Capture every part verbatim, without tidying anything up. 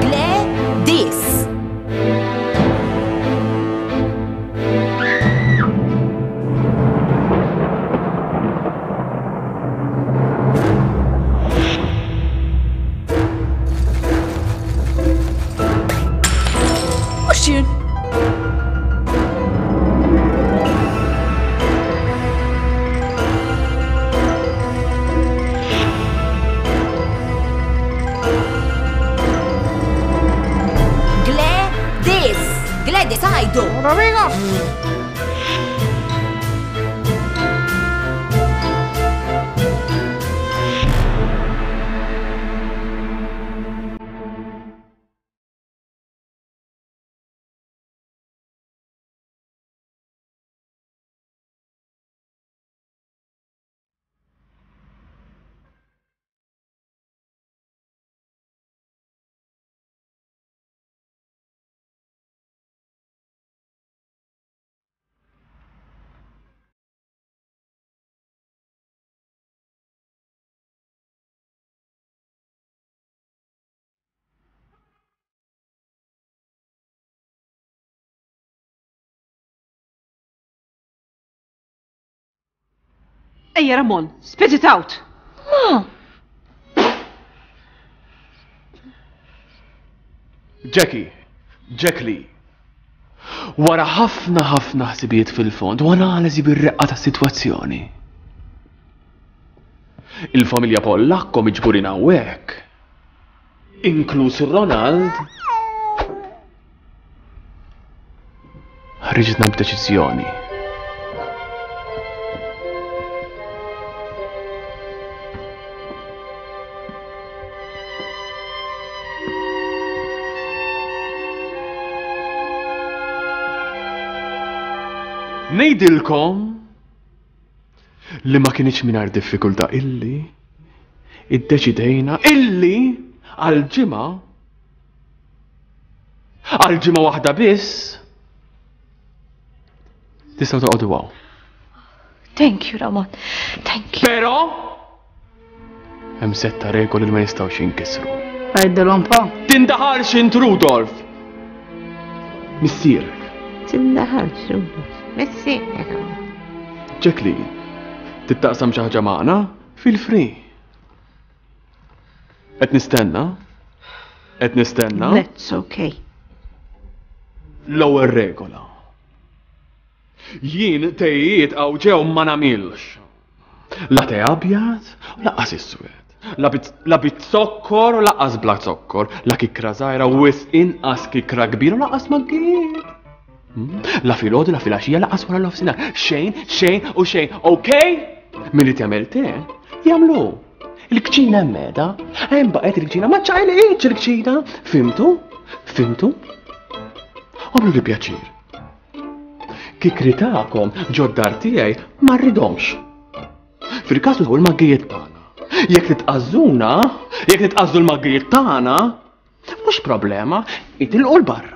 Gladys. Mhux jien. Gladys. Gladys għajdu. Ejja Ramon, spit it out. Ma. Jackie, Jackie, wara ħafna ħafna ħsibijiet fil-fond u analiżi bir-reqqa tas-sitwazzjoni. Il-familja Pollakko miġburin hawnhekk, inkluż Ronald, ħriġna b'deċiżjoni. Ngħidilkom li ma kienx mingħajr diffikultà illi iddeċidejna illi għal ġimgħa għal ġimgħa waħda biss tistgħu toqgħodu hawn. Thank you, Ramon. Thank you. Però hemm setta regoli li ma jistgħux jinkisru. Għajdilhom pa. Tindaħalx int Rudolf! Missierek. Tindaħalx Rudolf. Missierek. Jacqueline, tittaqsam xi ħaġa magħna? Feel free. Qed nistenna? Qed nistenna? That's okay. L-ewwel regola. Jien tejiet għaw ġew ma nagħmilx. La te abjad, u laqqas iswed. La bit, la bit zokkor u laqqas bla zokkor. La kikra żgħira u wisq inqas kikra kbira u laqqas maggiet. Hmm? La filgħodu, la filgħaxija, laqqas wara l-nofsinhar. Xejn, xejn u xejn, okej? Min irid jagħmel te, jagħmlu. Il-kċina hemm qiegħda, hemm baqgħet il-kċina, ma ċaqilqitx il-kċina. Fimtu? Fimtu? Għamlu li pjaċir. Kikri tagħkom ġod-dar tiegħi ma rridhomx. Fil-każ użaw il-maggijiet tagħna. Jekk titqażżuna, jekk titqażżu l-maggijiet tagħna, mhux problema, itilqu 'l barra.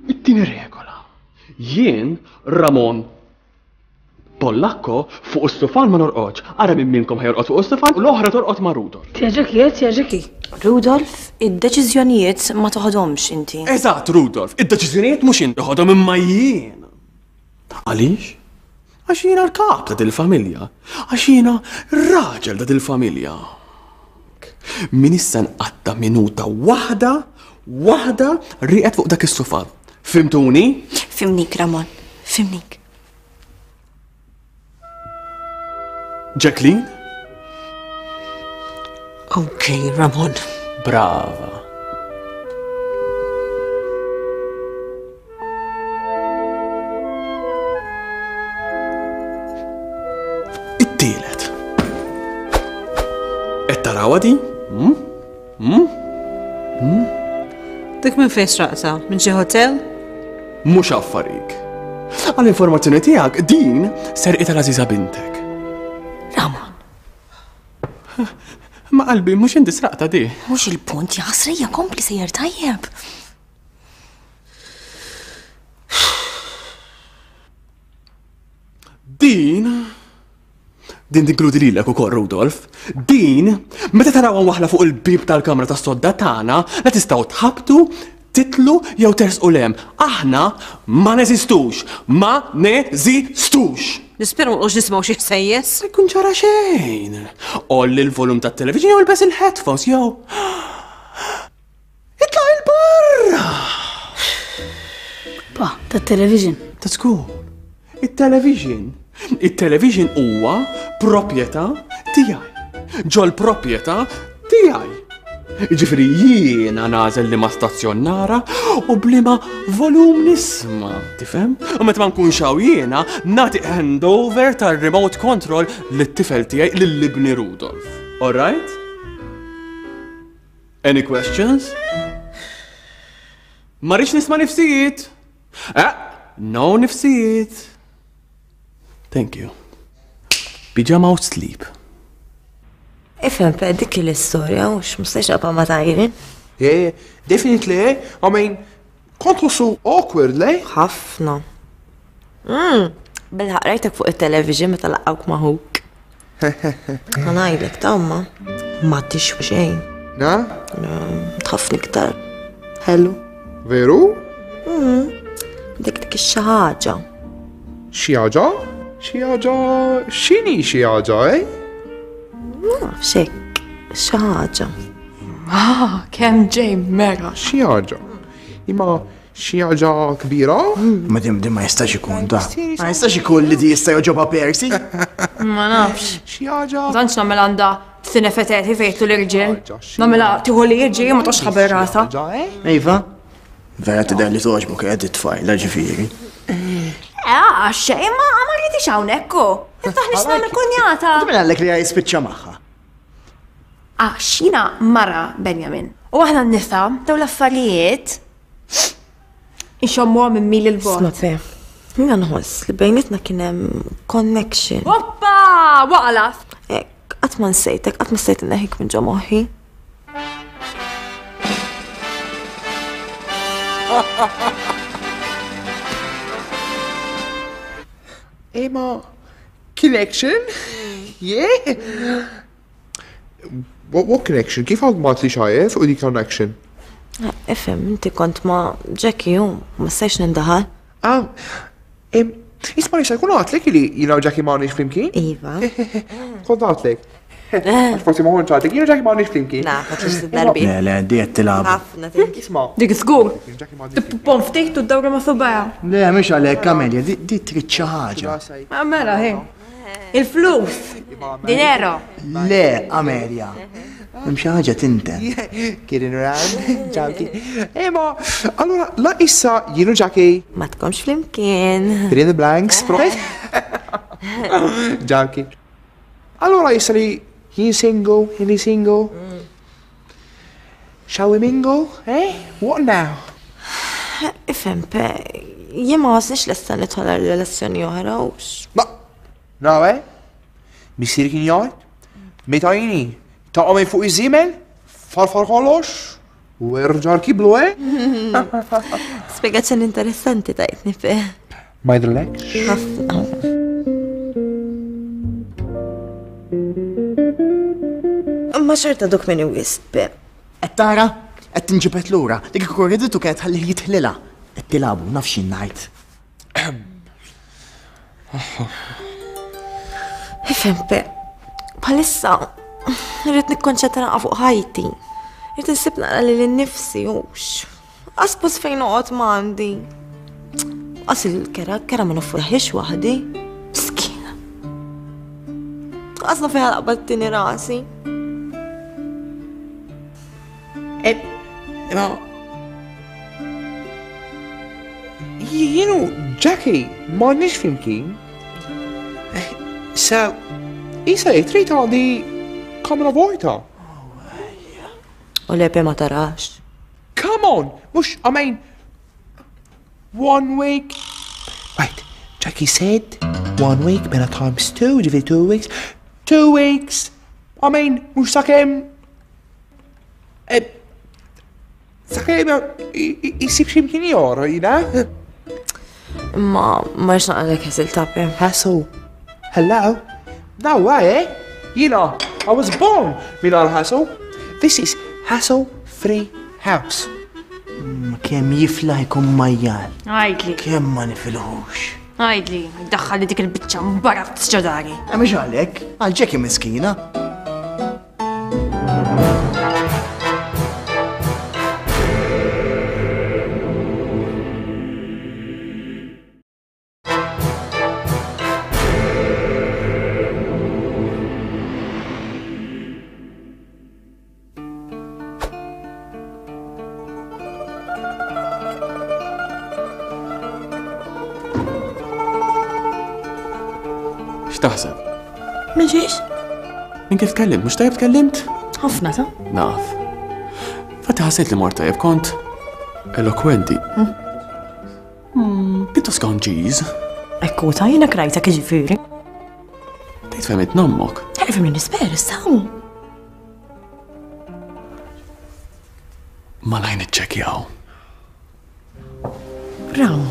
It-tieni regola. Jien Ramon Pollakko fuq is-sufan ma norqodx. Ara minn minnkom ħajorqod fuq is-sufan u l-oħra torqod ma' Rudolf. Tja Jackie, eh, tja Jackie. Rudolf, id-deċiżjonijiet ma toħodhomx inti. Eżatt, Rudolf, id-deċiżjonijiet mhux inti toħodhom imma jien. Għaliex? Għax jiena l-kap ta' dil-familja. Għax jiena raġel ta' dil-familja. Min issa nqatta' minuta waħda, waħda rieqed fuq dak is-sufan. Fimtuni? Fimnik, Ramon, fimnik. Jacqueline? Okay, Ramon. Brava. It-tielet. Qed tarawha din? Hmm? Hmm? Hmm? Dik minn fejn sraqta? Minn xi hotel? Mhux affarik. Għall-informazzjoni tiegħek din serqitha l-għażiża bintek. Ramon. Ma qalbi, mhux inti sraqta di. Mhux il-punt, jaħasrija, kompli sejjer tajjeb. Din, din tinkludi lilek ukoll, Rudolf. Din, meta tarawha waħla fuq il-bib tal-kamra tas-sodda tagħna, la tistgħu tħabtu, titlu jew tersqu lem. Aħna ma neżistux, ma neżistux. Nispera ma nqogħdux nisimgħu xi ħsejjes. Ma jkun ġara xejn. Olli l-volum tat-television jew ilbes il-headphones jew itlaq il-barra. Pa, tat-television. Ta' żgur. It-television. It-television huwa proprjetà tiegħi. Ġol proprjetà tiegħi. Jiġifieri jiena nagħżel liema stazzjon nara u bliema volum nisma', tifhem? U meta ma nkunx hawn jiena nagħti handover tar-remote control lit-tifel tiegħi lil ibni Rudolf. All right? Any questions? Ma rridx nisma' nifsijiet. Eh, no nifsijiet. Thank you. Pyjama out sleep. Ifhem, pe, dik l-istorja, u x'mustax naqba' ma tajrin. Yeah, definitely, eh? I mean, kont ħossu awkward, le? Ħafna. Mm, Bilħaq rajtek fuq it-television meta laqgħuk ma' ħuk. Ħa ngħidlek ta' umma, ma tixwi xejn. Na? Tħafni iktar. Hello. Veru? Mm, Dik dik xi ħaġa. Xi ħaġa? Xi ħaġa? X'inhi xi ħaġa, eh? Ma nafx hekk, xi ħaġa. Ah, kemm ġej mera. Xi ħaġa? Imma xi ħaġa kbira? Ma dim dim ma jistax ikun ta. Ma jistax ikun li di jista' joġobha Percy. Ma nafx. Xi ħaġa? Ma tantx nagħmel għandha sinefeteti fejtu l-irġiel. Nagħmilha tieħu li jiġi ma tox ħabel rasha. Iva, vera tidher li toġbok qed it-tfajla ġifieri. Eh, xejn ma ma rridix hawnhekk hu. Taħniex nagħmel kunjata. Min għallek li jispiċċa magħha? Għax jiena mara Benjamin. U aħna n-nisa daw l-affarijiet inxommuha minn mil il-bogħod. Isma' pe, jiena nħoss li bejnietna kien hemm connection. Oppa, waqla. Hekk, qatt ma nsejtek, qatt ma stajt inneħik minn ġo moħħi. Imma connection? Yeah? What, what connection? Kif għad ma tli xajef u di connection? Ifhem, inti kont ma' Jackie u ma stajx nindaħal. Ah, em, isma li jkun għatlek li jina u Jackie ma għandix flimkien? Iva. Kont għatlek. Għax forsi ma kontx għatlek, jina u Jackie ma għandix flimkien. Naf, għatlix darbi. Le, le, di qed tilgħab. Ħafna thank you. Isma. Dik żgur. Jackie ma għandix flimkien. Tippon ftit u d-dawra ma' subgħajha. Le, mhux għalhekk Amelia, di di trid xi ħaġa. Ma mela hi. Il-flus. Dinero. Le, Amelia. Hemm xi ħaġa tinten. Kidding around, Jackie. Imma, allora, la issa jien u Jackie. Ma tkomx flimkien. Fill in the blanks, right? Jackie. Allora issa li jien single, jien single. Shall we mingle, eh? What now? Ifhem, pe, jien ma ħossniex lesta nidħol għal relazzjoni oħra u x- Ma, no, eh? Missieri kien jgħid, meta jini, taqa' minn fuq iż-żiemel, farfar kollox, u erġa' rkiblu, eh? Spjegazzjoni interessanti tajtni pe. Ma jidhirlekx? Ħafna. Ma xorta dok minni wisq, pe. Qed tara? Qed tinġibed lura. Dik ikun riditu kienet tħallih jitħlilha. Qed tilagħbu, naf x'jien ngħid. Ifhem, pe, bħalissa rrid nikkonċentra naqra fuq ħajti. Irrid insib naqra lili nnifsi hux. Qas fejn noqgħod m'għandi. Qas il-kera, kera ma nofforħiex waħdi. Miskina. Qas naf fejn laqbad tini rasi. Eh, imma jien u Jackie m'għandniex flimkien. So, issa li trid għandi kamra vojta. U lepe ma tarax. Come on, mhux, I mean, one week. Right, Jackie said one week, mela times two, ġifieri two weeks. Two weeks. I mean, mhux sakemm sakemm isib xi mkien ieħor, you know? Imma ma rridx naqgħalek hassle ta' Pep. Hassle? Hello? No way, eh? You know, I was born mingħajr hassle. This is hassle-free house. Kemm jiflaħ ikun majjal. Għajdli. Kemm ma nifilħux. Għajdli, daħħalli dik il-biċċa mbarazz ġo dari. Mhux għalhekk, għal Jackie miskina. X'taħseb? Minn xiex? Minn kif tkellimt, mhux tajjeb tkellimt? Ħafna ta'. Naf. Fatti ħassejt li mort tajjeb kont elokwenti. Pjuttost konċiż. Ekku ta' jiena krajtek jiġifieri. Tgħid fehmet nommok. Fehmni nisper issa. Malajr niċċekkjaw. Bravo.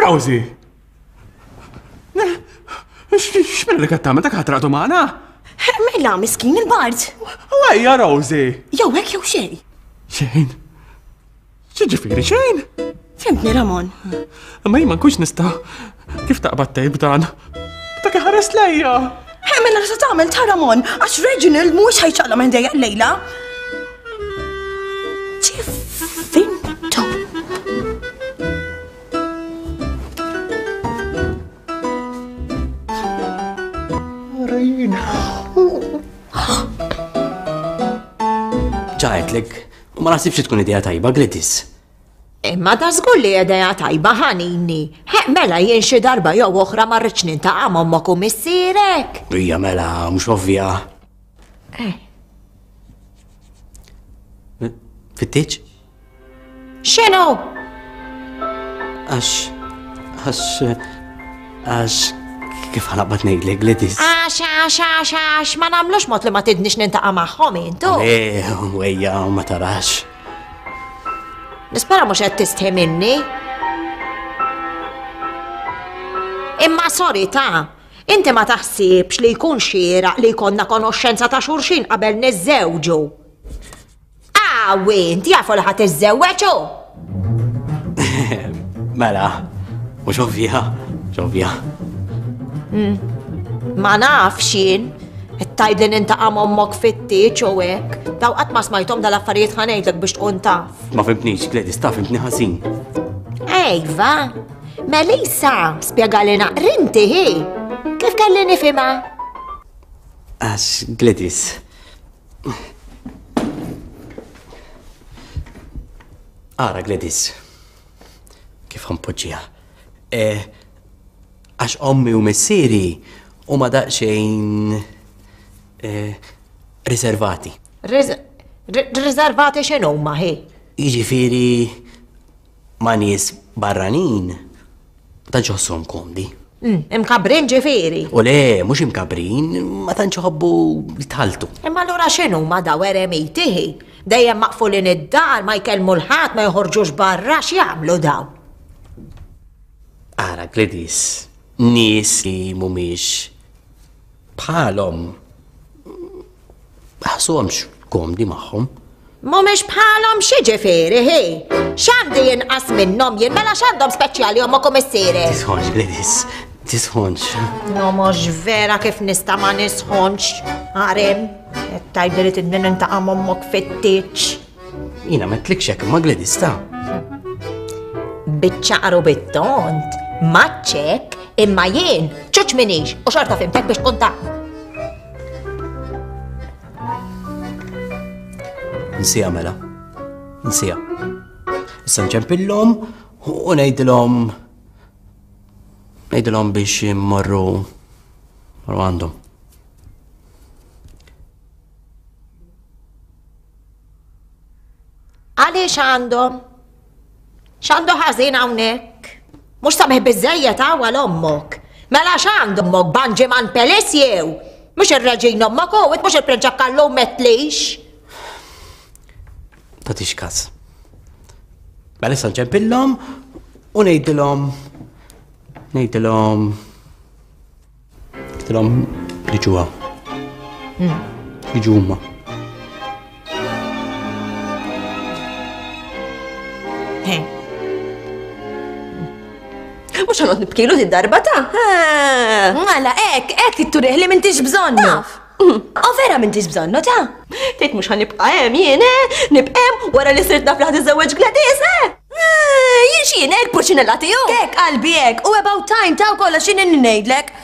Rosie! X'minn li qed tagħmel dak ħatraqtu magħna? Mela miskin il-bard. Ejja Rosie! Jew hekk jew xejn. Xejn? X'jiġifieri xejn? Fhimtni Ramon. Imma jien ma nkunx nista' kif taqbad tgħid b'dan? Dak iħares lejja. Mela se tagħmel ta' Ramon għax Reginald mhuwiex ħajċaqla minn dejja lejla. Ġifintu. Ġajtlek, u ma naħsibx tkun idea tajba, Gladys. Imma da żgur li idea tajba ħanini. Heq mela jien xi darba jew oħra ma rridx nintaqa' m'ommok u missierek. Hija mela mhux ovvja. Eh. Fittieġ? X'inhu? Għax għax għax kif ħanaqbad ngħidlek, Gladys? Għax għax għax għax ma nagħmlux mod li ma tidnix nintaqa' magħhom intu. Le, wejja, ma tarax. Nispera mhux qed tistħi minni. Imma sorry ta' inti ma taħsibx li jkun xieraq li jkollna konoxxenza ta' xulxin qabel niżżewġu. Awi, inti jafu li ħadd iżżewweġ hu. Mela, mhux ovvja, mhux ovvja. Ma nafx jien, qed tgħidli nintaqa' m'ommok fit-tieġ u hekk. Daw qatt ma smajthom dal-affarijiet ħa ngħidlek biex tkun taf. Ma fimtnix, Gladys, ta' fimtni ħażin. Ejva, Melissa, spjegali naqrinti hi. Kif kelli nifhimha? Għax, Gladys. Ara, Gladys. Kif ħanpoġġiha? Għax ommi u missieri huma daqsxejn riservati. Riservati x'inhuma hi? Jiġifieri ma' nies barranin ma tantx iħossuhom komdi. Imkabrin ġifieri. U le, mhux imkabrin, ma tantx iħobbu jitħalltu. Imma allura x'inhuma daw eremiti hi? Dejjem maqfulin id-dar, ma jkellmu l-ħadd, ma joħorġux barra, x'jagħmlu daw? Ara, Gladys, nies li mhumiex bħalhom ħassuhomx komdi magħhom. Mhumiex bħalhom x'jiġifieri hi? X'għandi jinqas minnhom jien mela x'għandhom speċjali ommok u missierek? Tisħonx, Gladys, tisħonx. No mhux vera kif nista' ma nisħonx. Għarem, qed tgħidli li tidni nintaqa' m'ommok fit-tieġ. Jiena m'għedtlikx hekk imma Gladys ta'. Biċ-ċaqar u bit-tont, maċċek, imma jien ċuċ minix u xorta fimtek biex tkun taf. Nsija mela, nsija. Issa nċempillhom u ngħidilhom ngħidilhom biex immorru morru għandhom. Għaliex għandhom? X'għandu ħażin hawnhekk? Mhux sabiħ biżżejjed hawn għal ommok. Mela x'għandu ommok Banġiman Pelis jew? Mhux ir-reġin ommok u mhux il-prinċep Kallu metlix. Tagħtix każ. Mela issa nċempillhom u ngħidilhom ngħidilhom ngħidilhom jiġu hawn. Jiġu huma. Mux ħanot nibkilu di darba ta' Mela, ek, ek titturih li m'intix bżonnu. Taf. O vera m'intix bżonnu ta' Tgħid mhux ħanibqa' hemm jien, eh? Nibqa' hemm wara li sirt naf li ħad iżewweġ Gladys, eh? Jien x'jien hekk purċinella tiegħu. Hekk qalbi hekk, u about time ta' kollox x'inhi ngħidlek.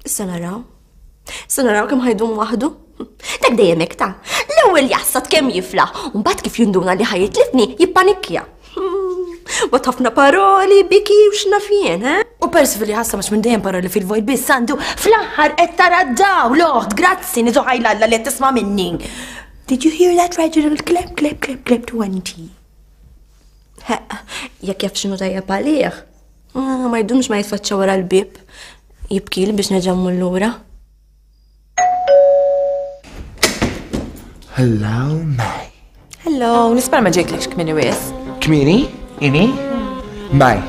Issa naraw. Issa naraw kemm ħajdum waħdu. Dak dejjem hekk ta' l-ewwel jassat kemm jiflaħ, u mbagħad kif jinduna li ħajitlifni jippanikkja. Bat ħafna paroli, biki u x'naf jien, eh? U Percival li ħassa mhux minn dejjem paroli fil-vojt biss għandu fl-aħħar qed tara d-dawl, oħt, grazzi, niżu ħajlalla li qed tisma' minni. Did you hear that, Reginald? Clap, clap, clap, clap twenty. Jekk jaf x'inhu tajjeb għalih. Ma jdumx ma jitfaċċa wara l-bieb. Jibkili biex nerġa' mmur lura. Hello, May. Hello, nispera ma ġejtlekx kmieni wis. Kmieni? Ini? May.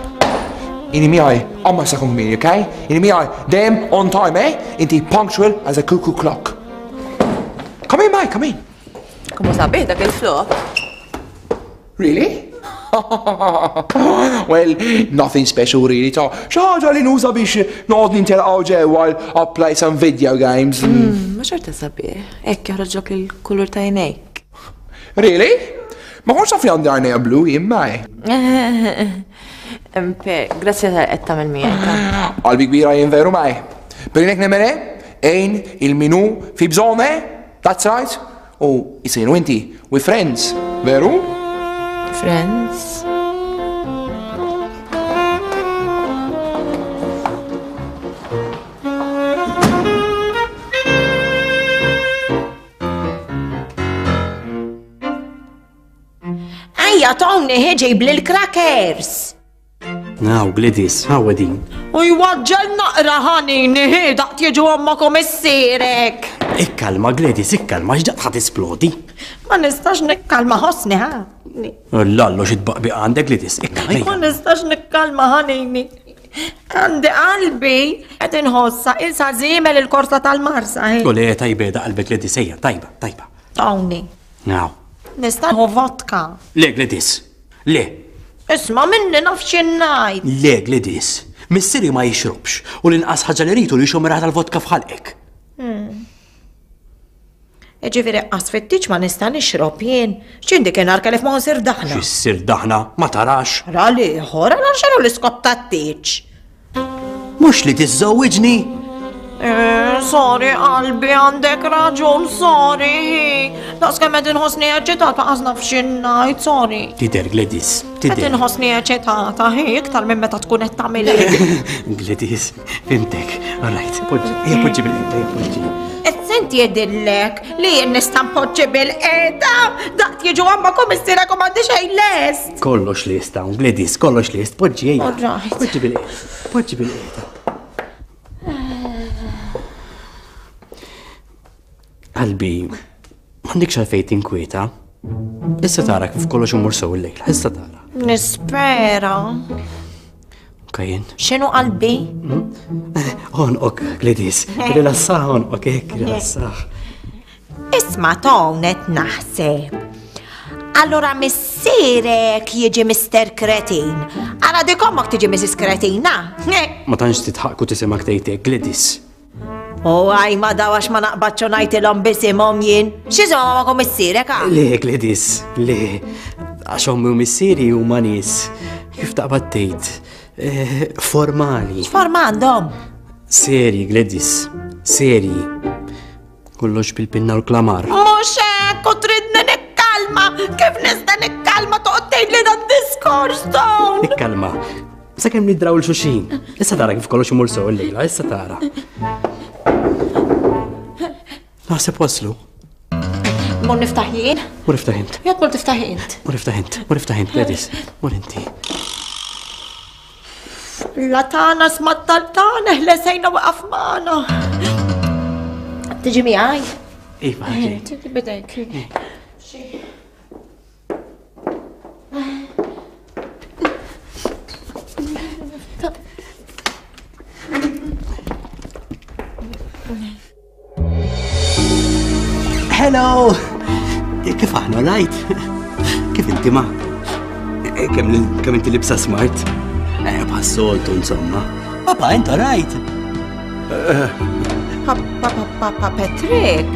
Ini miegħi, għamma sa kun kmieni, okay? Ini miegħi, dejjem on time, eh? Inti punctual as a cuckoo clock. Come in, May, come in. Kumma sabiħ dak il-flok. Really? Well, nothing special really, ta' xi ħaġa li nuża biex noqgħod nintelqgħu ġew while I play some video games. Ma xorta sabiħ, hekk joħroġlok il-kulur ta' għajnejk. Really? Ma kontx naf li għandi għajnejja blu jien, May. Per, grazzi tal qed tagħmel miegħek. Qalbi kbira jien veru, May. Per jien hekk nemmen, għin il-minu fi bżonn, eh? That's right. U jisinu inti, we friends, veru? Friends. Ejja Tony ħiġib lil crackers. Naw, Gladys, hawn din. U jwaġġel naqra ħanini, hi daqt jiġu ommok u missierek. Ikkalma, Gladys, ikkalma, x'daqt ħa tisplodi. Ma nistax nikkalma ħossni, ħa. Lallu xi tbaqbiq għandek, Gladys, ikkalma. Ma nistax nikkalma ħanini. Għandi qalbi qed inħossa ilsa żiemel il-korsa tal-Marsa, hi. U le tajba da qalbek Gladys, ejja, tajba, tajba. Tony. Naw. Nista' nieħu vodka. Le, Gladys, le. Isma' minni naf x'in ngħid. Le, Gladys, missieri ma jixrobx u l-inqas ħaġa li rridu li xomra tal-vodka f'ħalqek. Ġifieri qas fit-tieġ ma nista' nixrob jien. X'indi kien arka li f'ma nsir daħna. X'issir daħna? Ma tarax. Ra l-ieħor, għala x'inhu l-iskop tat-tieġ? Mhux li tiżżewwiġni. Eh, sorry qalbi, għandek raġun, sorry. Daqs kemm qed inħossni eċitata qas naf x'in ngħid, sorry. Tidher, Gladys, Qed tidher. inħossni eċitata, hi, iktar minn meta tkun qed tagħmel. Gladys, fimtek. All right, poġġi, ejja poġġi bil-qiegħda, ejja poġġi. Senti jedillek li jien nista' npoġġi bil-qiegħda, daqt jiġu ommok u missierek u m'għandi xejn lest. Kollox lest hawn, Gladys, kollox lest, poġġi ejja. All right. Poġġi bil-qiegħda, poġġi bil-qiegħda. Qalbi, m'għandekx għalfejn tinkwieta. Issa tara kif kollox imur sew il-lejla, issa tara. Nispera. Kajjen. X'inhu qalbi? Onqok, Gladys, rilassah onqok, hekk, rilassah. Isma' Tony qed naħseb. Allora missierek jiġi Mister Kretin. Ara dik ommok tiġi Missus Kretina. Ma tantx titħaqku tisimgħek tgħid hekk, Gladys. U għaj ma dawax ma naqbadx u ngħidilhom bisimhom jien. X'isimhom ommok u missierek, ha? Le, Gladys, le. Għax ommi u missieri huma nies. Kif taqbad tgħid? Eh, formali. X'forma għandhom? Seri, Gladys, seri. Kollox bil-pinna u l-klamar. Mhux hekk, u tridni nikkalma. Kif nista' nikkalma toqgħod tgħid tgħidli dan diskors dawn. Ikkalma. Sakemm nidraw l-xuxin. Issa tara kif kollox imur sew illejla, issa tara. Naħseb waslu. Mur niftaħ jien? Mur iftaħ int. Jekk mur tiftaħ int. Mur iftaħ int, mur iftaħ int, Gladys. Mur inti. La tagħna smattaltana, ħlesejna waqaf magħna. Tiġi miegħi? Iva, ġej. Tiġi bidejk. Hello! Kif aħna, right? Kif inti ma? Kemm kemm inti libsa smart? Eh, bħas-soltu insomma. Papa, inta right? Papa, papa, Patrick.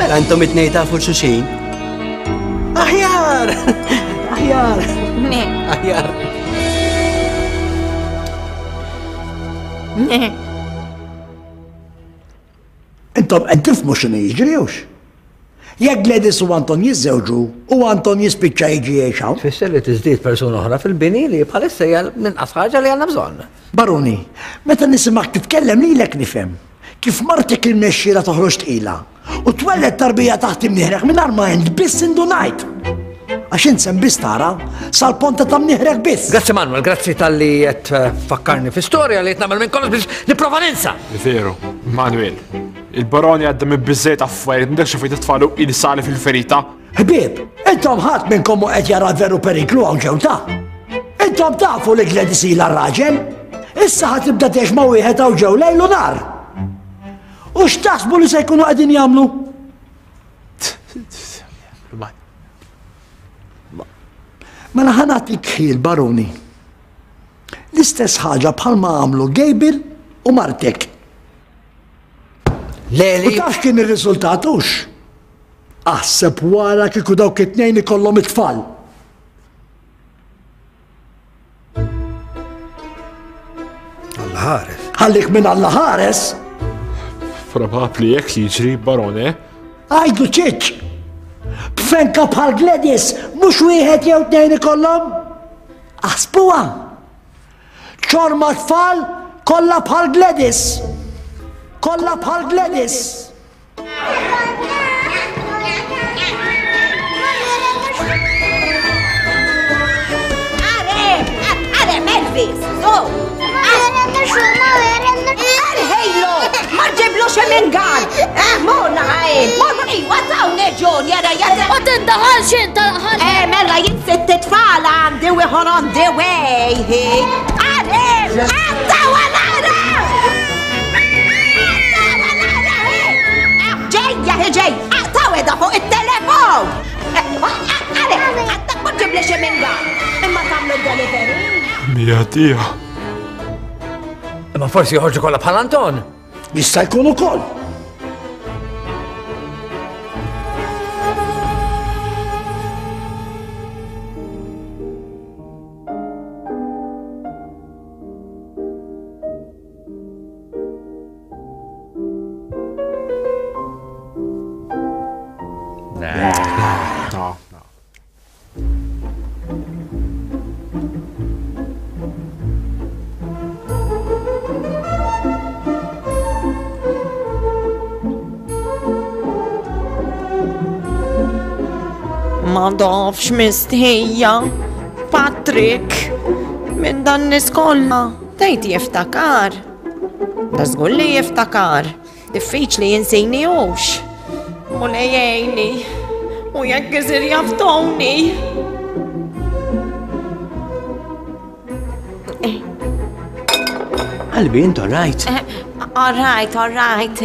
Mela intom it-tnejn tafu xulxin. Aħjar! Aħjar! Ne. Aħjar! Ne. Intom qed tifhmu x'inhu jiġri hux. Jekk Gladys u Anton jiżżewġu u Anton jispiċċa jiġi jgħix hawn. Tfisser li tiżdied persuna oħra fil-bini li bħalissa hija l-inqas ħaġa li għandna bżonn. Baroni, meta nisimgħek titkellem lilek nifhem kif martek irnexxielha toħroġ tqila u twelled tarbija taħt imnieħrek mingħajr ma int biss indunajt. Għax int sem biss tara sal-ponta ta' mnieħrek biss. Grazzi Manuel, grazzi talli qed fakkarni fi storja li qed nagħmel minn kollox biex nipprova ninsa. Veru, Manuel. Il-baroni għadda minn biżżejjed affarijiet, m'għandekx fejn titfalu il-sali fil-ferita. Ħbieb, intom ħadd minnkom mhu qed jara veru periklu hawn ġew ta'. Intom tafu li Gladys ilha r-raġel. Issa ħa tibda tgħix ma' wieħed hawn ġew lejl u nar. U x'taħsbu li se jkunu qegħdin jagħmlu? Mela ħa nagħtik ħil, baroni. L-istess ħaġa bħalma għamlu Gabriel u martek. Leli. U taf kien ir-riżultat hux? Aħseb wara kieku dawk it-tnejn ikollhom it-tfal. Alla ħares. Ħallik minn Alla ħares. Probabbli jekk jiġri, barone. Għajdu ċiċ. B'fenka bħal Gladys mhux wieħed jew tnejn ikollhom. Aħsbuha. Ċorma tfal kollha bħal Gladys. Kollha bħal Gladys. Are, are, Elvis, so. Arħejlo, ma ġiblux mingan. Eh, morna għajn, morna iwa tawne ġon, jara jara. Ma tindaħalx inta ħalli. Eh, mela jien sitt tfal għandi u ieħor on the way. Are, għattaw għal-ara! Ġejja, ġej, aqtaw edha fuq il-telefon! Għale, għattak ma ġibli xi mingan. Imma tagħmlu delivery. Mija tija. Imma forsi joħorġu kollha bħal Anton. Jista' jkun ukoll. No, no. Ma nafx mistħija. Patrick, minn dan nies kollha. Tgħid jiftakar. Da żgur li jiftakar. Diffiċli jinsini hux. Mulej jgħinni. U jekk isir jaf Tony. Qalbi, int all right? All right, all right.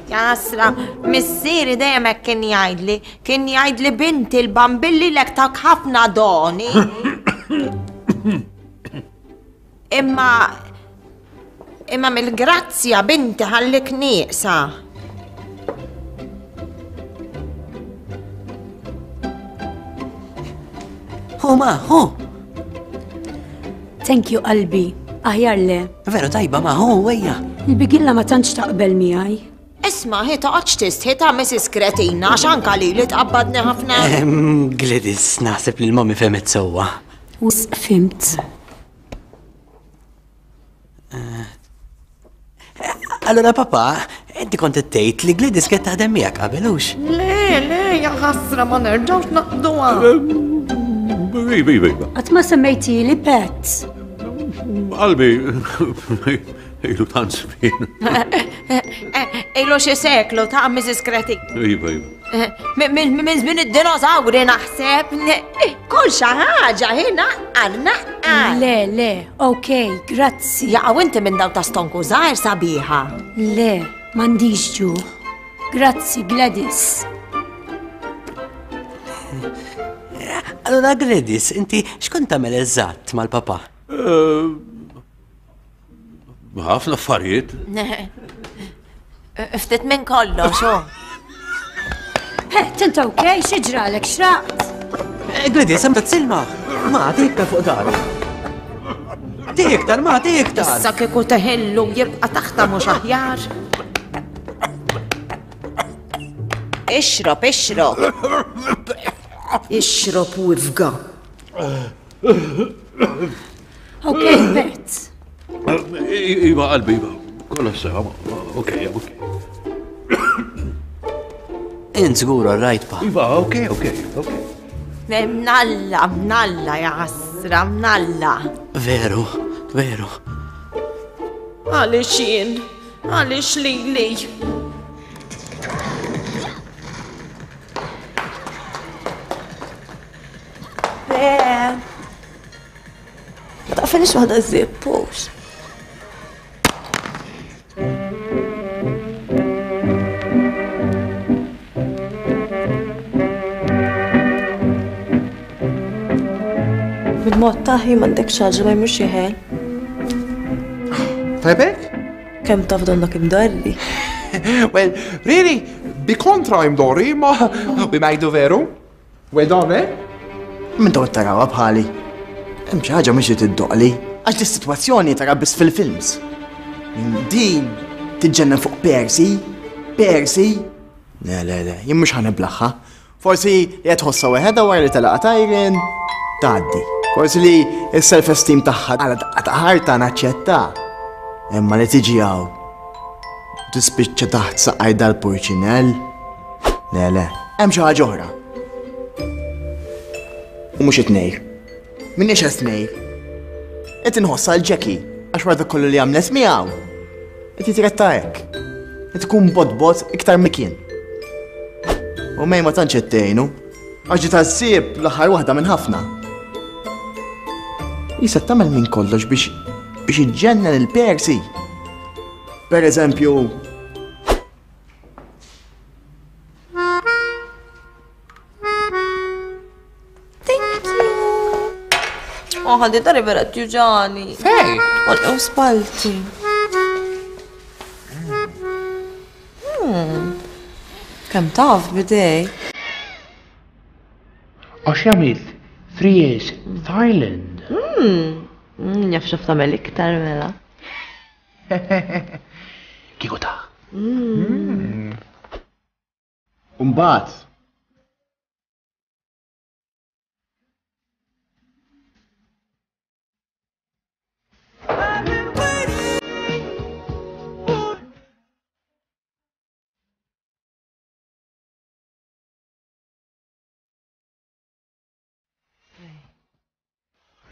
Jasra, missieri dejjem hekk kien jgħidli, kien jgħidli binti l-bambilli lek tak ħafna doni. Imma imma mill-grazzja binti ħallik nieqsa. Hu ma, hu. Thank you qalbi, aħjar le. Veru tajba ma, hu wejja. Il-bigilla ma tantx taqbel miegħi. Isma, hi toqgħodx tistħi ta' Missus Kretina għax anka lili tqabbadni ħafna. Gladys, naħseb li l-mommy fehmet sewwa. Wisq fimt. Allora papa, inti kont qed tgħid li Gladys kienet taħdem miegħek qabel hux? Le, le, ja ħasra ma nerġgħux naqduha. Iva, iva, iva. Qatt ma semmejtili Pet. Qalbi, ilu tant żmien. Ilu xi seklu ta' Missus Kretina. Iva, iva. Minn żmien id-dinożawri naħseb. Kull xi ħaġa hi naqqar, naqqar. Le, le, ok, grazzi. Jaqgħu inti minn daw ta' stonku żgħir sabiħa. Le, m'għandix ġuħ. Grazzi, Gladys. Allora Gladys, inti x'kont tagħmel eżatt mal-papa? Ħafna affarijiet. Ftit minn kollox, oh. Pet, inta ok, xi ġralek, xraqt? Gladys, hemm silma. Ma tiktar fuq dar. Tiktar, ma tiktar. Issa kieku teħillu jibqa' taħta mhux aħjar. Ixrob, ixrob. Ixrob u ifga. Ok, Pet. Iva, qalbi, iva. Kollox sewa, ok, ok. Int żgur all right, pa. Iva, ok, ok, ok. Mnalla, mnalla, ja ħasra, mnalla. Veru, veru. Għaliex jien, għaliex lili. Le. Taqfelix waħda żippux. Bil-mod taħi m'għandek xaġa ma jmurx jeħel. Tajbek? Kemm taf donnok imdorri? Well, really, bi kontra imdorri, ma bimajdu veru. Well done, eh? Minn daw tarawha bħali. Hemm xi ħaġa mhux tiddoqli. Għax dis-sitwazzjoni tara biss fil-films. Din tiġġennen fuq Percy, Percy. Le, le, le, jien mhux ħaniblaħħa. Forsi li qed tħossha weħedha wara li telaqha Tyron, tgħaddi. Forsi li s-self-esteem tagħha għal daqqa ta' ħarta naċċetta. Imma li tiġi hawn tispiċċa taħt saqaj dal-purċinell. Le, le, hemm xi ħaġa oħra. U mhux it-tnejn. Minniex qed tnejn. Qed inħossha l Jackie għax wara dak kollu li għamlet miegħu. Qed jitretta hekk. Qed ikun bot iktar mikien. U mej ma tantx qed tgħinu. Għax ġiet għas-sieb l-aħħar waħda minn ħafna. Jisa tagħmel minn kollox biex biex iġġennen il-Percy. Per eżempju, Oh, ħalli dari vera tjuġani. Fej? Għal spalti. Hmm. Kemm taf bidej? Għax għamilt three years Thailand. Hmm. Jaf xaf tagħmel iktar mela. Kieku ta' Umbagħad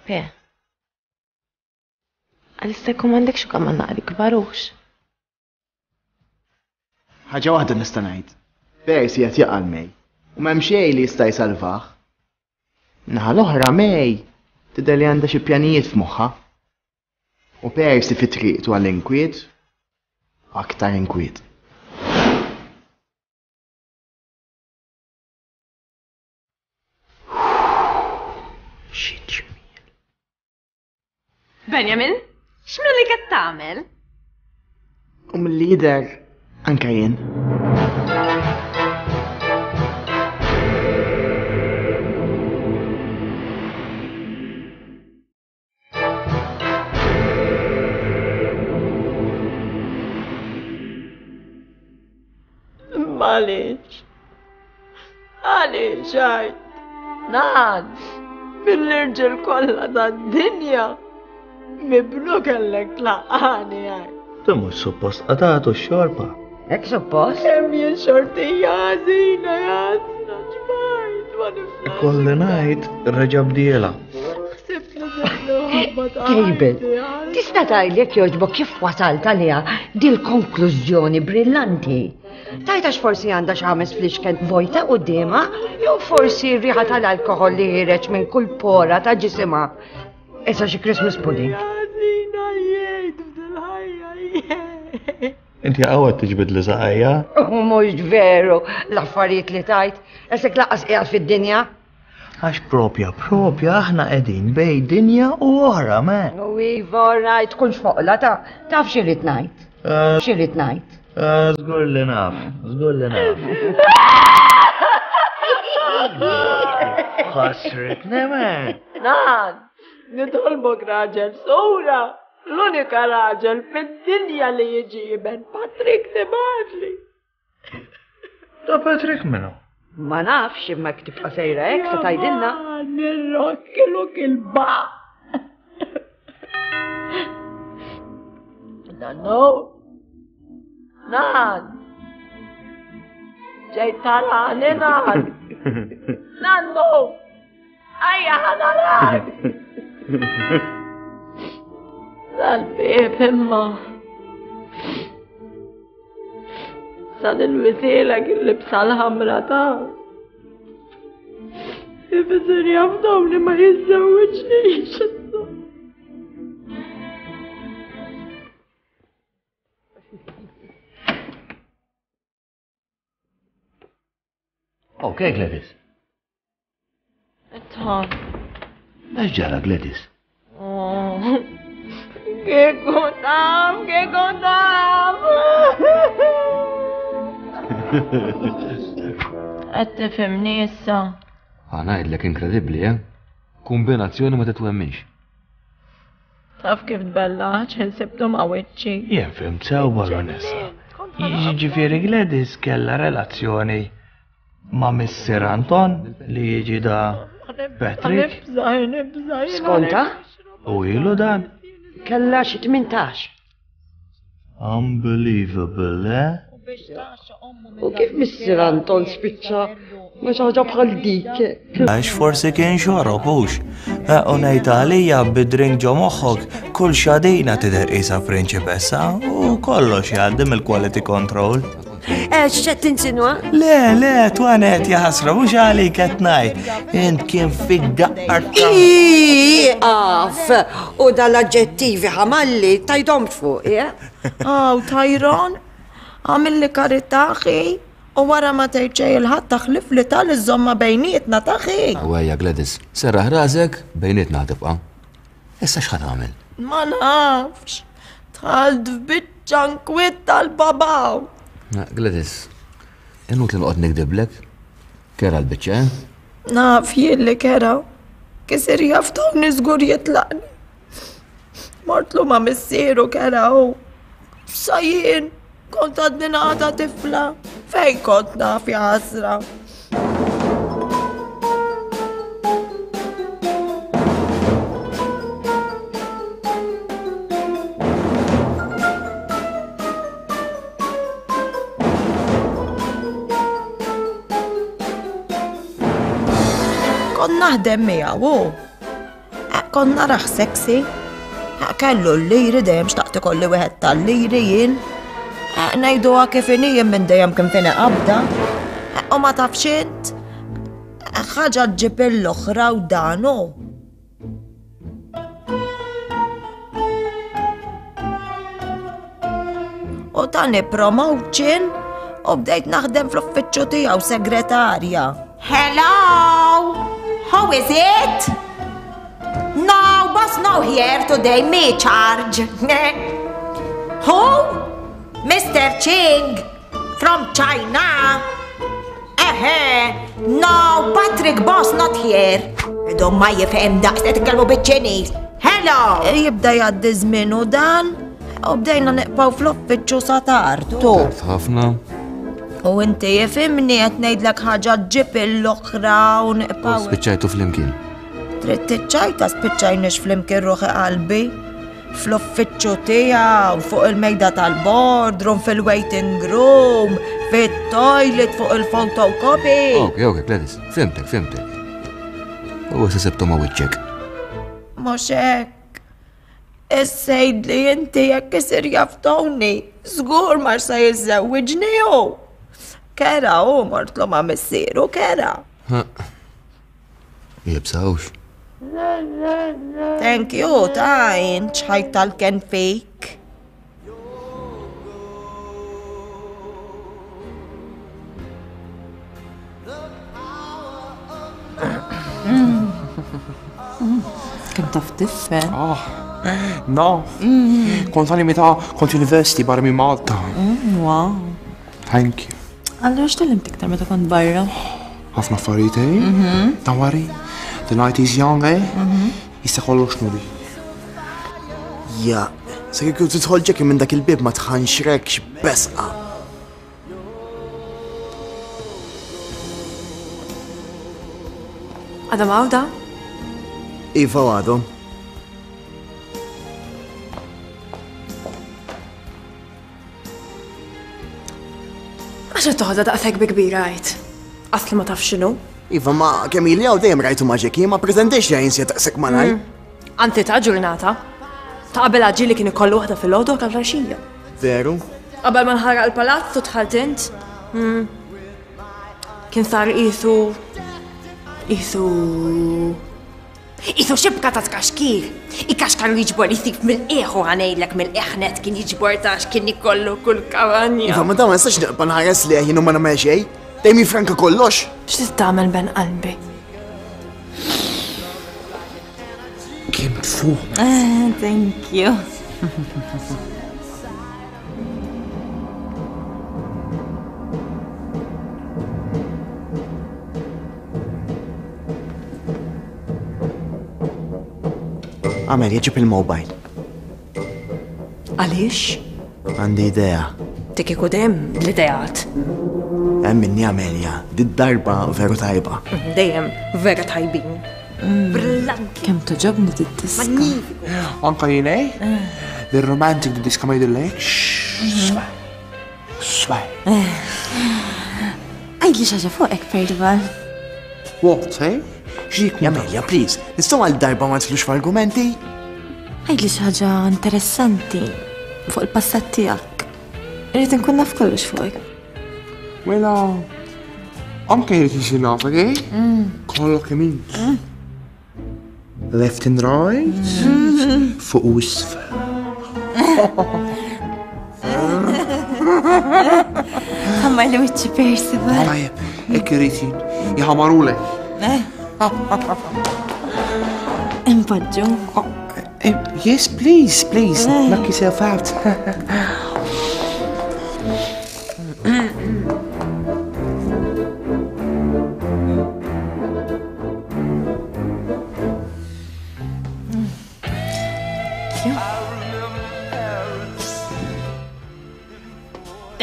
Pe. Għalissa jkun m'għandekx ukoll ma naqri kbarux. Ħaġa waħda nista' ngħid. Percy qed jaqa' May u m'hemm xejn li jista' jsalvah. Naħa l-oħra May tidher li għandha xi pjanijiet f'moħħha. U Percy fi triqtu għall-inkwiet aktar inkwiet. Benjamin, x'minn li qed tagħmel? U mill-lider anke jien. Għaliex? Għaliex għajt? Nan, mill-irġiel kollha tad-dinja mibnu kellek tlaqqani għajt. Tu mhux suppost qatgħatu x-xorba. Hekk suppost? Kemm jien xortija ħażina jasna ġbajt ma niflax. Ikolli ngħid reġa' bdiela. Ħsibt li nibnu ħabba ta' Cable, ħajti, għal. tista' tgħidli jekk jogħġbok kif wasalt għaliha dil-konklużjoni brillanti? Tajt għax forsi għandha xi ħames flixken vojta quddiemha, jew forsi r-riħa tal-alkoħol li ħireġ minn kull pora ta' ġisimha. Issa xi Christmas pudding. Ħażina jgħid f'dil-ħajja jgħid. Inti għawad tiġbid li saqajja. U mhux veru l-affarijiet li tajt, esek laqas qiegħed fid-dinja. Għax propja, propja aħna qegħdin bej dinja u oħra, man. U iva, rajt, tkunx foqla, ta' taf xi rrid ngħid. Xi rrid ngħid. Żgur li naf, żgur li naf. Ħasritni, man. Nan, nitolbok raġel sura, l-unika raġel fid-dinja li jiġi iben Patrick tibgħatli. Ta' Patrick minnu? Ma nafx imma jekk tibqa' sejra hekk se tgħidilna. Nirrokkiluk il-ba. Nannu. Nan. Ġejt tarani nan. Nannu. Ejja ħa narak. Dal-bieb imma. Sa nilwisilek il-libsa l-ħamra ta' Ifisir jafdaw li ma jiżżewwiġnix issa. Ok, Gladys. Itħan. Għax ġara, Gladys? Kieku taf, kieku taf. Qed tifhimni issa. Ħa ngħidlek inkredibbli, eh? Kombinazzjoni ma titwemminx. Taf kif tbellaħ ħin ma' wiċċi. Jien fhimt sew baronessa. Jiġifieri Gladys kellha relazzjoni ma' Missier Anton li jiġi da Patrick Nibża, nibża. Skonta? u ilu dan. Kellha xi tmintax. Unbelievable, eh? U kif missier Anton spiċċa ma xi ħaġa bħal dik. Għax forsi kien xorob hux. U ngħid għalija bid-drink ġo moħħok kull xadina tidher qisha prinċipessa u kollox jgħaddi mill-quality control. Eh, x'qed tinsinwa? Le, le, Twanet jaħasra, mhux għalik qed ngħid. Int kien fik daqqar ta' Iqaf! U dal-aġġettivi ħamalli tajdom fuq, eh? Aw, Tyron, għamilli karità ħi, u wara ma tgħid xejn il-ħadd taħlif li tal iżomma bejnietna taħi. Għajja, Gladys, serraħ rasek, bejnietna tibqa'. Issa x'ħa tagħmel? Ma nafx. Dħalt f'biċċa nkwiet tal-babaw. Gladys, inutli noqgħod nikdiblek. Kerha l-biċċa, eh? Naf jien li kerha. Kisir jaf Tony żgur jitlaqni. Mortlu ma' missieru kerha u. Sa jien kont għadni għada tifla. Fejn kont naf jaħasra. Kont naħdem miegħu hu. Kont narah sexy. Kellu l-liri dejjem xtaqt ikolli wieħed tal-liri jien. Ngħiduha kif inhi jien minn dejjem kien fini qabda. U ma tafx int. Ħaġa ġġib l-oħra u dan hu. U tani promotion u bdejt naħdem fl-uffiċċju tiegħu segretarja. Hello! How is it? No, boss no here today, me charge. Who? Mr. Ching from China. Ehe, no, Patrick boss not here. Idhom ma jifhem daqs qed titkellmu biċ-Ċiniż. Hello! Jibda jgħaddi żmien u dan u bdejna neqpaw fl-uffiċċju sa tard. Tard ħafna. U inti jifhimni qed ngħidlek ħaġa ġib l-oħra u nqpaw. Spiċċajtu flimkien. Trid tiċċajta spiċċajniex flimkien ruħi qalbi. Fl-uffiċċju tiegħu, fuq il-mejda tal-boardroom, fil-waiting room, fit-toilet, fuq il-photocopy. Ok, ok, Gladys, fimtek, fimtek. U issa sebtu ma' wiċċek. Mhux hekk. Issejt li inti jekk isir jaf Tony, żgur ma se jiżżewwiġni hu. Kera hu mortlu ma' missieru, kera. Jibsawx. Thank you, ta' int xħajt tal-ken fik. Kemm taf tifhem? Ah, naf. Kont għali meta kont university barra minn Malta. Wow. Thank you. Allura x'tgħallimt iktar meta kont barra? Ħafna affarijiet, eh? Don't worry. The night is young, eh? Issa kollox nuri. Ja, sa kieku tidħol Jackie minn dak il-bib ma tħanxrekx besqa. Għadhom għawda? Iva għadhom. Għax qed toħodha daqshekk bi kbira għid. Asli ma taf x'inhu. Iva ma kemm ili hawn dejjem rajtu ma' Jackie, ma pretendejx li jinsja daqshekk malaj. Anti ta' ġurnata. Ta' qabel ġieli kien ikollu waħda fil-għodu ta' flaxija. Veru? Qabel ma nħaraq il-palazz u dħalt int. Kien sar qisu qisu qisu xibka ta' tkaxkir. Ikaxkar u jiġbor jisif mill-qiegħ u ħanejlek mill-qiegħ kien jiġbor ta' x'kien ikollu kull kavanja. Iva, ma dawn ma nistax nibqa' nħares lejh jien u ma nagħmel xejn. Dejjem jifranka kollox. X'trid tagħmel ben qalbi? Kemm tfuq. Thank you. Amelia, ġib il-mobile. Għaliex? Għandi idea. Dik ikun hemm l-ideat. Hemm minni Amelia, di darba veru tajba. Dejjem vera tajbin. Brillanti. Kemm toġobni dit-diska. Magnifiku. Anka jien, eh? The romantic diska ma jidhirlek. Swaj. Swaj. Għidli xi ħaġa fuqek, Percival. What, eh? X'jikun? Amelia, please, nistgħu għal darba ma nidħlux f'argumenti? Għidli xi ħaġa interessanti fuq il-passat tiegħek. Irrid inkun naf kollox fuqek. Mela, anke jrid isir nafek, eh? Kollok kemm int. Left and right, fuq u isfel. Ħammar li wiċċi Percival. Tajjeb, hekk irid jien. Jħamarulek. Impoġġu. Yes, please, please, knock yourself out.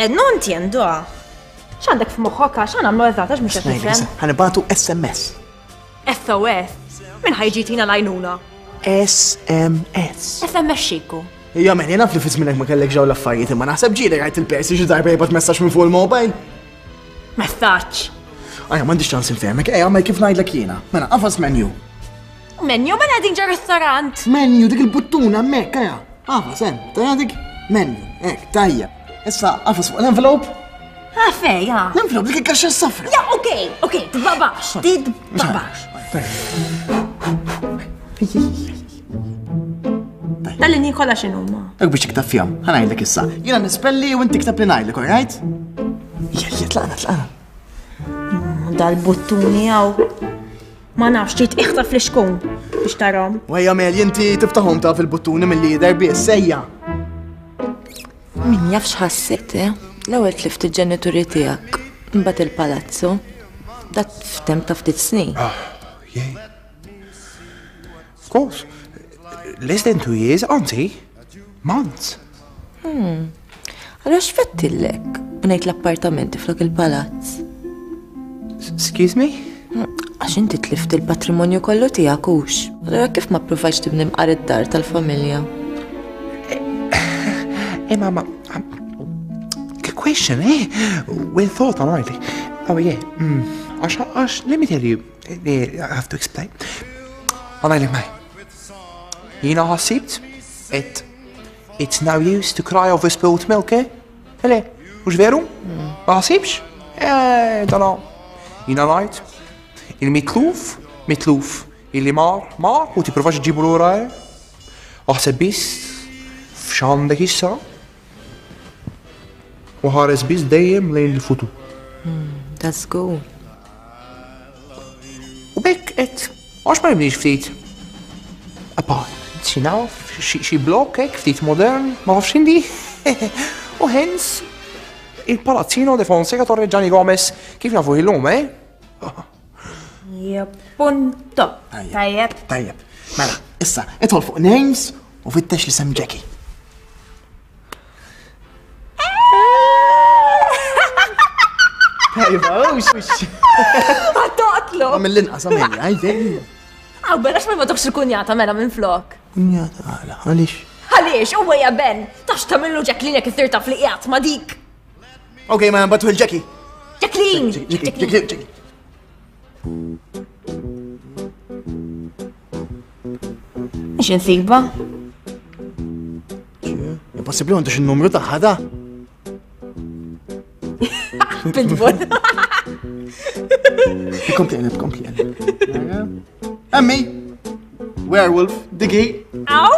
Eh, non entiendo. X'għandek f'moħħok għax għamlu eżatt għax mhux qed nifhem. Ħanibatu S M S. S O S. Min ħajġi tina l-għajnuna? S M S. S M S xieku? Ija, men, jena fli fizminek ma kellek ġew l-affarijiet, imma naħseb ġieli rajt il-Percy xi darba jibgħat messaġġ minn fuq il-mobile. Messaġġ? Ajja, m'għandix ċans infehmek, ejja, għamel kif ngħidlek jiena. Mela, qafas menu. Menu mela din ġo ristorant. Menu, dik il-buttuna hemmhekk, ejja. Qafas hemm, tajja dik menu, hekk, tajja. Issa, qafas fuq l-envelope. Ah, fej, ja. L-envelope dik il-kaxxa s-safra. Ja, okej, okej, tbabax, tbabax. Tal-linji kollha x'inhuma? Hekk biex tikteb fihom, ħa ngħidlek issa. Jiena nispelli u inti tikteb li ngħidlek, all right? Jella, tlaqna, tlaqna. Dal-buttuni hawn. Ma nafx, trid iħtaf l-ixkun biex tarahom. Wejja, Mel, inti tiftaħhom taf il-buttuni mill-lider biss, sejja. Min jaf x'ħassejt, eh? L-ewwel tlift il-ġenituri tiegħek, imbagħad il-palazzu. Dat f'temp ta' ftit snin. Ah, yeah. Of course. Less than two years, auntie. Months. Hmm. Allora x'fettillek? U ngħid l-appartamenti flok il-palazz. Excuse me? Għax inti tlift il-patrimonju kollu tiegħek hux. Allura kif ma ppruvajtx tibni mqar id-dar tal-familja? Hey, mama, um, good question, eh? Well thought on, right? Oh, yeah. Mm. Għax, għax, let me tell you, eh, I have to explain. Ħa ngħidlek maj. Jiena ħassibt, it, it's no use to cry over spilled milk, eh? Ele, mhux veru? Ma ħassibx? Eh, dana. Jiena ngħid, il-mitluf, mitluf, illi mar, mar, u tipprovax ġibu lura, eh? Aħseb biss f'x'għandek issa u ħares biss dejjem lejn il-futur. That's good. U bekk qed għax ma nibniex ftit apartment, xi naf, xi blok hekk ftit modern, ma nafx indi. U hence il-Palazzino de Fonseca Torreggiani Gomez kif nafu illum, eh? Ja, punto. Tajjeb. Tajjeb. Mela, issa, idħol fuq names u fittex li sem Jackie. Tajba, ux, ux. Għattoqtlu. Mill-inqas għamilja, għajde. Għaw, bella x'ma ma il-kunjata mela minn flok. Kunjata, għala, għalix? Għalix, u għaja Ben, tax tamillu Jacqueline jek issir taf li qiegħed ma dik. Ok, ma batu il-Jackie. Jacqueline! Jackie, Jackie, Jackie. Mhix insiba. Impossibbli m'għandux in-numru tagħha da. Pitbull. Kompli qleb, kompli qleb. Emmi! Werewolf, digi. Aw!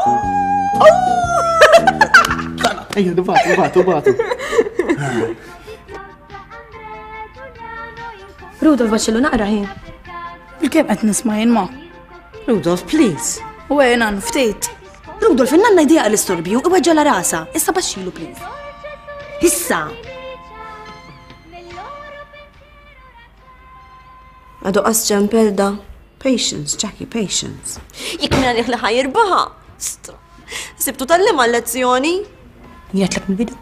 Ejja, batu, batu, batu. Rudolf baċillu naqra ħin. Il-kem qed nisma' jien ma. Rudolf, please. U għajna ftit. Rudolf, in-nanna idea l-istorbju, iweġġa la rasa. Issa baxxilu, please. Issa! Għadu qas ġempel da. Patience, Jackie, patience. Jekk minna liħ li ħajirbaħa. Stra. Sibtu tal-lima lezzjoni. Jgħatlek mill-bidu.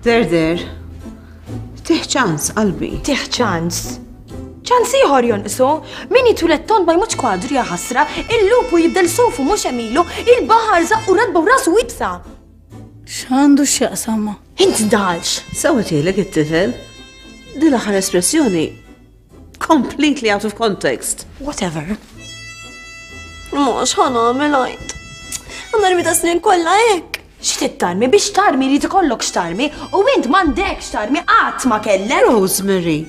Der, der. Tih ċans, qalbi. Tih ċans. ċans ieħor jonqsu. Min jitwieled tond ma jmutx kwadru ja ħasra, il-lupu jibdel sufu mhux emilu, il-baħar zaqqu radba u rasu ibsa. X'għandu x'jaqsam ma? Int dalx. Sewwa it-tifel. Din l-aħħar espressjoni completely out of context. Whatever. Mhux ħa nagħmel għajt. Għandna rmi ta' snin kollha hekk. X'trid tarmi biex tarmi li tikollok x'tarmi u int m'għandekx x'tarmi qatt ma kellek. Rosemary,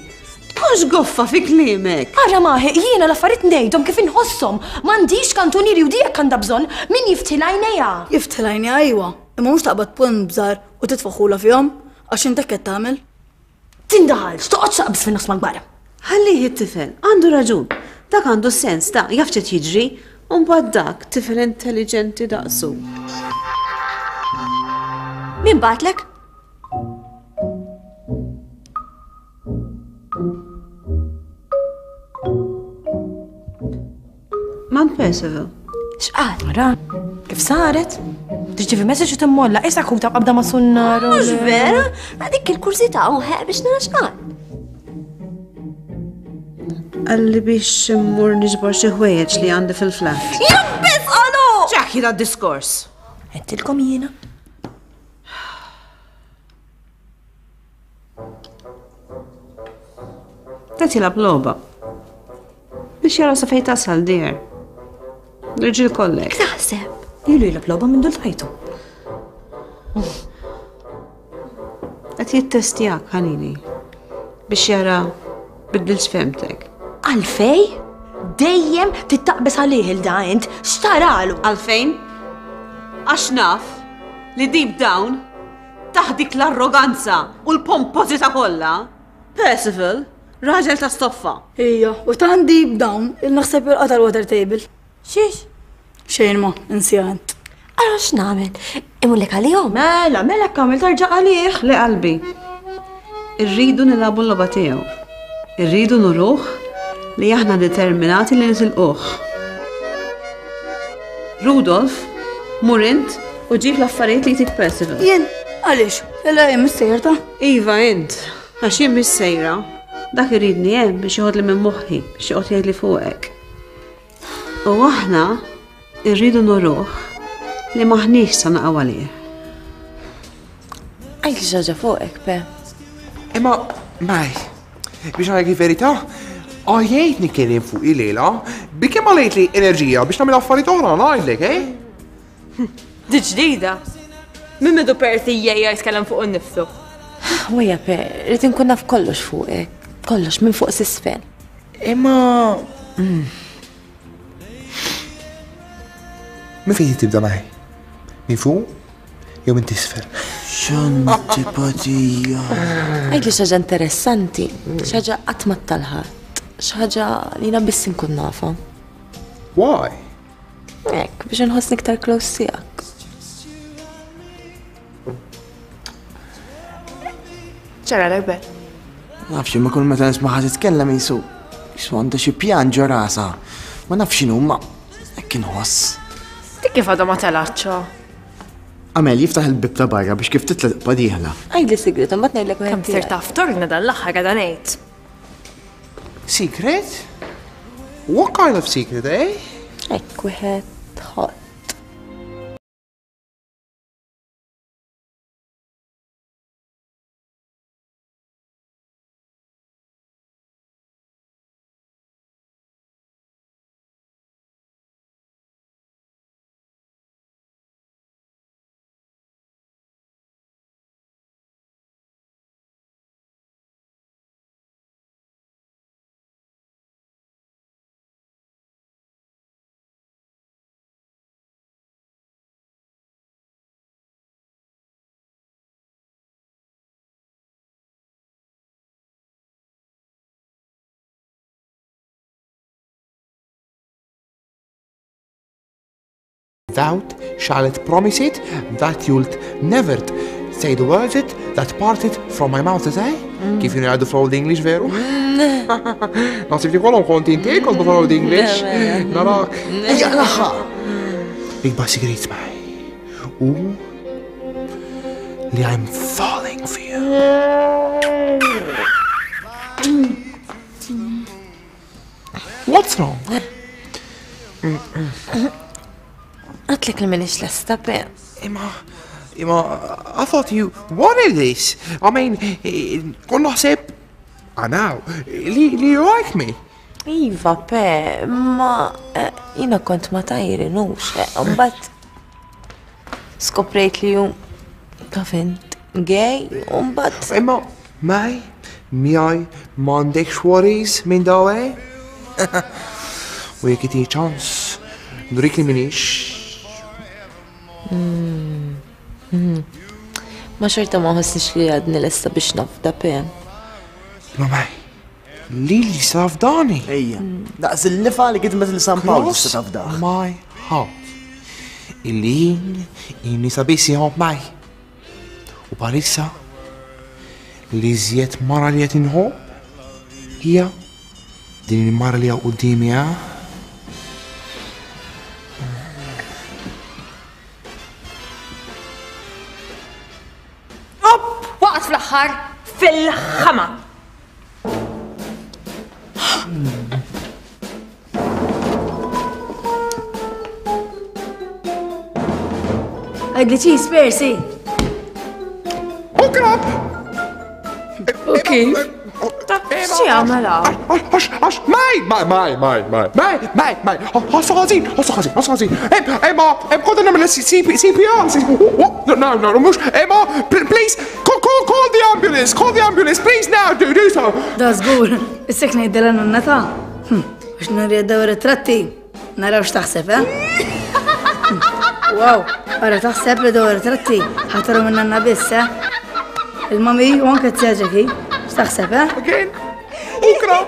tkunx goffa fi kliemek. Ara maħi, jiena l-affarijiet ngħidhom kif inħosshom. M'għandix kantunieri u dijek għandha bżonn min jiftil għajnejha. Jiftil għajnejha ejwa, imma mhux taqbad punt bżar u titfaħula fihom għax intek qed tagħmel. Tindaħalx, toqgħodx taqbż fin-nofs mal-kbar. Ħallih it-tifel, għandu raġun. Dak għandu sens ta' jaf x'qed jiġri, u mbagħad dak tifel intelligenti daqsu. Min batlek? Mount Percival. X'qal? Ara, kif saret? Tirċievi messaġġ u timmolla, issa kuta qabda ma' sunnar. Mhux vera, dik il-kurżità u ħeq biex nara x'qal. Qalli biex immur niġbor xi ħwejjeġ li għandi fil-flat. Jabbis qalu! Jackie da diskors. Għedtilkom jiena. Qed jilgħab logħba. Biex jara sa fejn tasal dear. L-irġiel kollek. Taħseb. Ilu jilgħab logħba minn dul tajtu. Qed jittestjak ħanini biex jara biddilx femtek. Għalfej? Dejjem tittaqbes għalih il-da int, x'taralu? Għalfejn? Għax naf li deep down taħt dik l-arroganza u l-pompożità kollha, Percival, raġel ta' stoffa. Ija, u tant deep down il-naħseb il-qata l-water table. Xiex? Xejn ma, insija int. Ara x'nagħmel? Imullek għalihom? Mela, mela kamil tarġa' għalih. Le qalbi. Irridu nilagħbu l-logħba tiegħu. Irridu nuruh li aħna determinati li nitilquh. Rudolf, mur int u ġib l-affarijiet li jtik Percival. Jien. Għaliex, illa jien missejra ta'? Iva int, għax jien missejra. Dak iridni hemm biex joħodli minn moħħi, biex joqgħod jgħidli fuqek. U aħna rridu nuruh li maħniex sa naqgħu għalih. Għajli xi ħaġa fuqek, Pe. Imma, Maj, biex ngħidlek il-verità, għajjejt nitkellem fuq il-lejla, bi kemm għalejt li enerġija biex nagħmel affarijiet oħra ngħidlek, eh? Di ġdida. Min midu Percy jgħajja jitkellem fuq innifsu. Wejja, Pe, rrid inkun naf kollox fuqek. Kollox minn fuq s'isfel. Imma. Min fejn tibda Maj? Minn fuq jew minn tisfel? X'antipatija. Għidli xi ħaġa interessanti, xi ħaġa qatt ma talħat, xi ħaġa li jiena biss inkun nafha. Why? Hekk, biex inħossni iktar close tiegħek. Ċara l Nafx imma kull meta nisma' titkellem jisu. Jisu għandha xi pjan ġo rasha. Ma nafx x'inhu ma hekk inħoss. Dik kif għadha ma telgħatx. Amel jiftaħ il-bib ta' barra biex kif titla' tibqa' dieħla. Għidli sigret, imbagħad ngħidlek wieħed. Kemm sir taf torna dan l-aħħar għadha ngħid. Secret? What kind of secret, eh? Hekk wieħed hot. Thou shalt promise it that you'll never say the words it that parted from my mouth, eh? Kif jgħidu fl-Old English, veru? Naħseb li kollhom kont inti kont fl-Old English. Narak. Ejja l-aħħar. Ikbar sigrit miegħi. U li I'm falling for you. What's wrong? Għatlek li minix lesta, Pe. Imma, imma, I thought you wanted this. I mean, kon naħseb, I know, li, li you like me. Iva, Pe, ma jina kont ma tajri, nux, mbagħad skoprejt li ju taf int gay, u mbagħad. Imma, Maj, miegħi m'għandekx worries minn daw, eh? U jekk itini ċans, nurik li minix. Ma xorta ma ħossniex li għadni lesta biex nafda, Pe. Ma Maj, li li safdani. Ejja, daqs il-lifa li kitmet il San Pawl tista' tafdah. My heart. Illi jien inni sabis jħobb Maj. U bħalissa li żjed mara li qed inħobb hija din il-mara li hawn quddiemi, ha? Waqt fl-aħħar fil-ħama. Għidli cheese, Percy. Hook up! U kif? Xi għamel hawn? Għax, għax, Maj, Maj, Maj, Maj, Maj, Maj, Maj, Maj, ħossa ħażin, ħossa ħażin, ħossa ħażin. Emma, hemm kont nagħmel C P R, no, no, no, mhux, Emma, please, call, call, call the ambulance, call the ambulance, please now, do, do so. Da żgur, issek ngħidilha nonna ta' biex nurri daw ritratti, naraw x'taħseb, eh? Wow, ara taħseb li daw ritratti ħataru minn nanna biss, eh? Il-mami u anke t-sjaġeki, x'taħseb, eh? Again, ukra.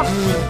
Off!